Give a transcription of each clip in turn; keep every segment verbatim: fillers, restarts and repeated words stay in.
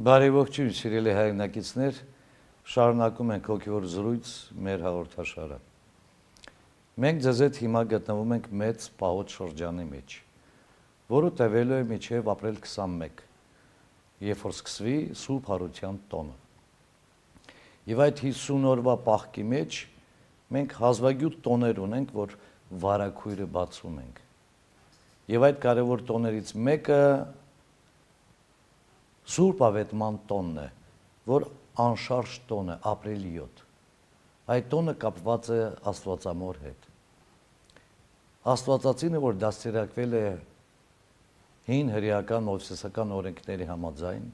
Բարեողջույն, սիրելի հայրենակիցներ, շարունակում ենք հոգևոր զրույց մեր հաղորդաշարը։ Մենք ձեզ հետ հիմա գտնվում ենք մեծ պահոց շրջանի մեջ, որը տևելու է մինչև ապրիլ քսանմեկ, երբ որ սկսվի Սուրբ Հարության տոնը։ Եվ այդ հիսուն օրվա պահքի մեջ մենք հազվագյուտ տոներ ունենք, որ վարագույրը բացում ենք։ Եվ այդ կարևոր տոներից մեկը Սուրբ Ավետման տոնն է, որ անշարժ տոն է, ապրիլի յոթ։ Այդ տոնը կապված է Աստվածամոր հետ։ Աստվածածինը, որ դաստիարակվել է հին հրեական մովսեսական օրենքների համաձայն,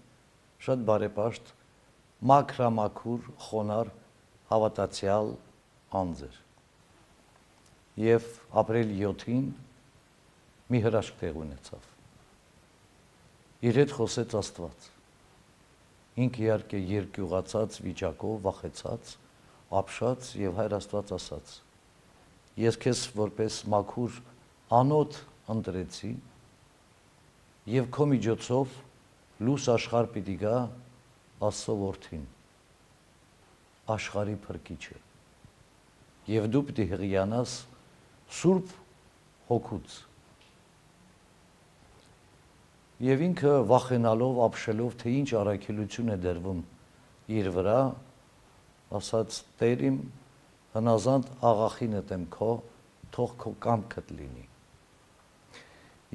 շատ բարեպաշտ, մաքրամաքուր, խոնար, հավատացյալ անձ էր։ Եվ ապրիլի յոթին մի հրաշք տեղ ունեցավ։ Իր հետ խոսեց Աստված։ Ինքը իհարկե երկյուղացած վիճակով, վախեցած, ապշած եւ Հայր Աստված ասաց. Ես քեզ որպես մաքուր անոթ ընտրեցի եւ քո միջոցով լույս աշխարհ պիտի գա Աստծո որդին, աշխարհի փրկիչը։ Եվ դու պիտի հղիանաս Սուրբ Հոգուց։ Եվ ինքը վախենալով, ապշելով, թե ինչ առաքելություն է դրվում իր վրա, ասաց. Տեր իմ, հնազանդ աղախինդ եմ քո, թող քո կամքդ լինի։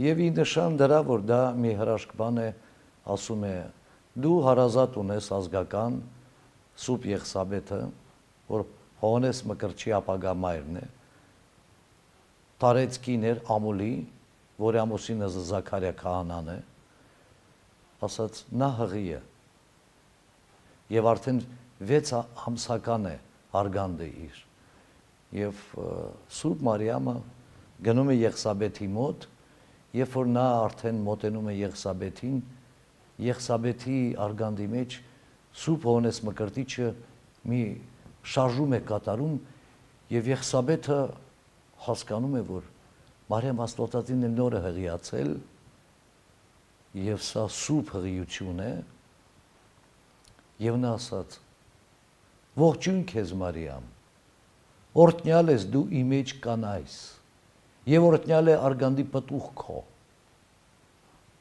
Եվ ի նշան դրա, որ դա մի հրաշք բան է, ասում է. դու հարազատ ունես ազգական Սուրբ Եղսաբեթը, որ Հովհաննես Մկրտչի ապագա մայրն է, տարեց կիներ Ամուլի, որի ամուսինը Զաքարիա քահանան է, ասաց նա հղի է եւ արդեն վեց ամսական է արգանդը իր եւ Սուրբ Մարիամը գնում է Եղսաբեթի մոտ, երբ որ նա արդեն մոտենում է Եղսաբեթին, Եղսաբեթի արգանդի մեջ Սուրբ Հովհաննես Մկրտիչը մի շարժում է կատարում եւ Եղսաբեթը հասկանում է, որ Մարիամ Աստվածածինն է նորը հղիացել եւ սա սուրբ հղիություն է եւ նա ասաց. ողջույն քեզ Մարիամ, օրհնյալ ես դու իմ մեջ կանայս եւ օրհնյալ է արգանդի պտուղ քո։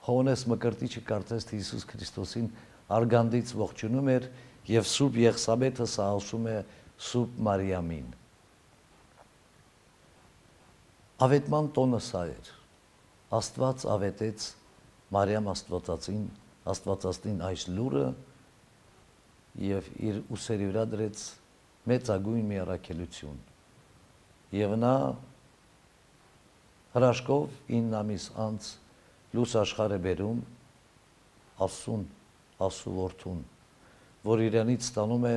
Հովհաննես Մկրտիչը կարծես թե Հիսուս Քրիստոսին արգանդից ողջունում էր եւ Սուրբ Եղսաբեթը սա ասում է Սուրբ Մարիամին։ Ավետման տոնը սա էր։ Աստված ավետեց Մարիամ Աստվածածին, Աստվածածին այս լուրը եւ իր ուսերի վրա դրեց մեծագույն մի առաքելություն։ Եվ նա հրաշքով ինը ամիս անց լույս աշխարհ է բերում Աստծուն, Աստծո որդուն, որ իրանից ստանում է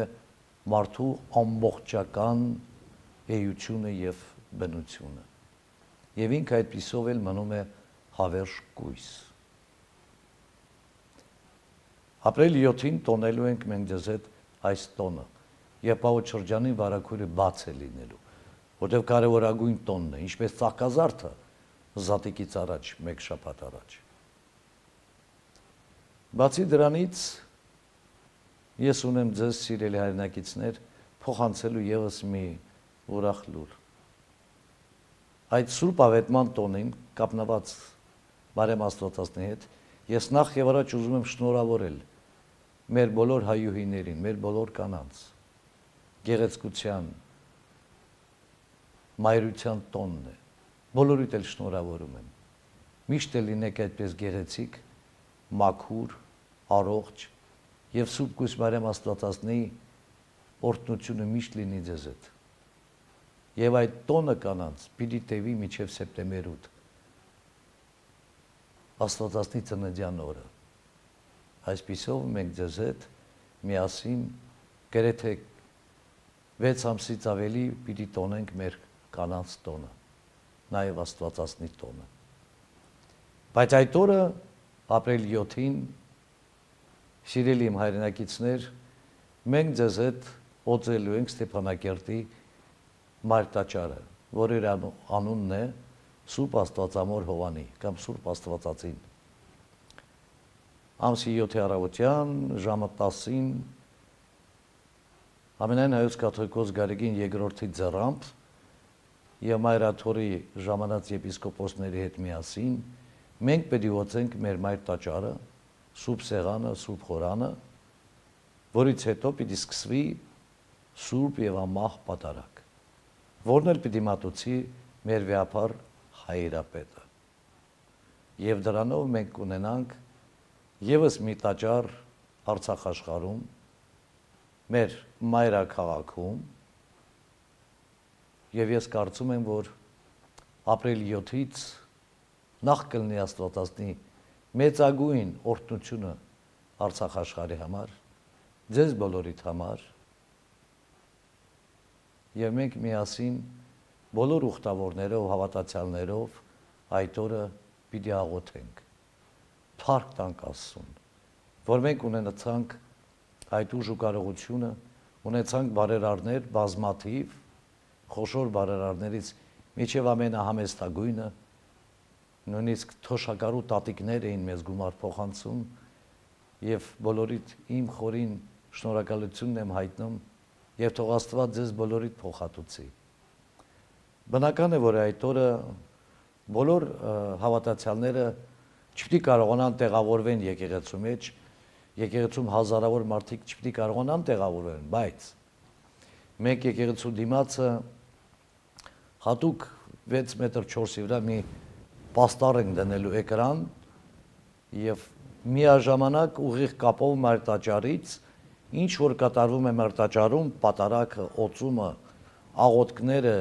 մարդու ամբողջական էությունը եւ բնությունը։ Եվ ինքը այդպիսով էլ մնում է հավերժ կույս։ Ապրիլի յոթին տոնելու ենք մենք ձեզ հետ այս տոնը, եւ պահոց շրջանի վարագույրը բաց է լինելու, որտեղ կարևորագույն տոնն է, ինչպես ծաղկազարդը զատիկից առաջ, մեկ շաբաթ առաջ։ Բացի դրանից ես ունեմ ձեզ սիրելի հայրենակիցներ փոխանցելու եւս մի ուրախ լուր։ Այդ Սուրբ Ավետման տոնին կապնված Մարիամ Աստվածածնի հետ ես նախ եւ առաջ ուզում եմ շնորհավորել մեր բոլոր հայուհիներին, մեր բոլոր կանանց գեղեցկության, մայրության տոնն է։ Բոլորիդ էլ շնորհավորում եմ։ Միշտ էլ լինեք այդպես գեղեցիկ, մաքուր, առողջ եւ Սուրբ Կույս Մարիամ Աստվածածնի օրհնությունը միշտ լինի ձեզ հետ։ Եվ այդ տոնը կանանց պիտի տևի մինչև սեպտեմբեր ութ, Աստվածածնի ծննդյան օրը։ Այսպիսով մենք ձեզ հետ միասին գրեթե վեց ամսից ավելի պիտի տոնենք մեր կանանց տոնը, նաև Աստվածածնի տոնը։ Բայց այդ օրը ապրիլի յոթին, սիրելի իմ հայրենակիցներ, մենք ձեզ հետ օծելու ենք Ստեփանակերտի Մարտաճարը, որ իր անունն է Սուրբ Աստվածամոր Հովանի կամ Սուրբ Աստվածածին։ ամսի յոթի առավոտյան ժամը տասին ամենայն հայոց կաթողիկոս Գարեգին երկրորդի ձեռամբ եւ Մայրաթորի ժամանած եպիսկոպոսների հետ միասին մենք պետք է ոցենք մեր մայր տաճարը, Սուրբ Սեղանը, Սուրբ Խորանը, որից հետո պիտի սկսվի Սուրբ եւ ամահ պատարագ, որն էլ պիտի մատուցի մեր վեհապար հայրապետը։ Եվ դրանով մենք կունենանք եւս մի տաճար Արցախ աշխարհում, մեր մայրաքաղաքում, եւ ես կարծում եմ, որ ապրիլի յոթից նախ կլինի Աստվածածնի մեծագույն օրհնությունը Արցախ աշխարհի համար, ձեզ բոլորիդ համար, եւ մենք միասին բոլոր ուխտավորներով, հավատացյալներով այդ օրը պիտի աղոթենք, փառք տանք Աստծուն, որ մենք ունենացանք այդ ուժ ու կարողությունը, ունեցանք բարերարներ բազմաթիվ, խոշոր բարերարներից միջև ամենահամեստագույնը, նույնիսկ թոշակարու տատիկներ էին մեզ գումար փոխանցում, եւ բոլորիդ իմ խորին շնորհակալությունն եմ հայտնում, եւ թող Աստված ձեզ բոլորիդ փոխհատուցի։ Բնական է, որ այդ օրը բոլոր հավատացյալները չպիտի կարողանան տեղավորվեն եկեղեցու մեջ, եկեղեցում հազարավոր մարդիկ չպիտի կարողանան տեղավորվեն, բայց մեկ եկեղեցու դիմացը հատուկ վեց մետր չորսի վրա մի պաստառ ենք դնելու էկրան եւ միաժամանակ ուղիղ կապով մեր տաճարից ինչ որ կատարվում է մեր տաճարում, պատարագը, օծումը, աղոթքները,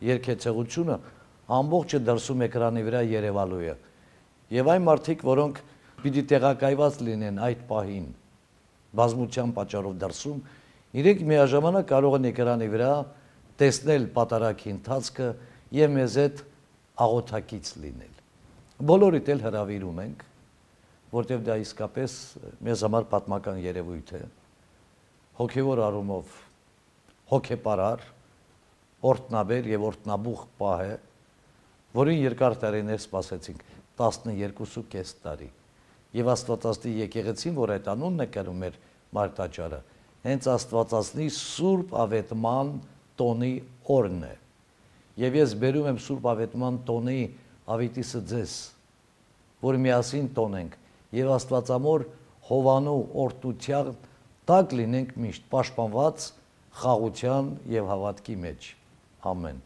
երգեցեղությունը ամբողջը դրսում էկրանի վրա երևալու է։ Եվ այն մարդիկ, որոնք պիտի տեղակայված լինեն այդ պահին բազմության պատճառով դրսում, իրենք միաժամանակ կարող են էկրանի վրա տեսնել պատարագի ընթացքը եւ մեզ հետ աղոթակից լինել։ Բոլորիդ էլ հրավիրում ենք, որտեղ դա իսկապես մեզ համար պատմական երևույթ է, հոգեվոր առումով հոգեպարար, օրհնաբեր եւ օրհնաբուխ պահ է, որին երկար տարիներ սպասեցինք, տասներկու տարի։ Եվ Աստվածածնի եկեղեցին, որ այդ անունն է կրում մեր մայր տաճարը, հենց Աստվածածնի Սուրբ Ավետման տոնի օրն է։ Եվ ես բերում եմ Սուրբ Ավետման տոնի ավետիսը ձեզ, որ միասին տոնենք եւ Աստվածամոր Հովանու օրհնության տակ լինենք միշտ պաշտպանված խաղաղության եւ հավատքի մեջ։ Ամեն։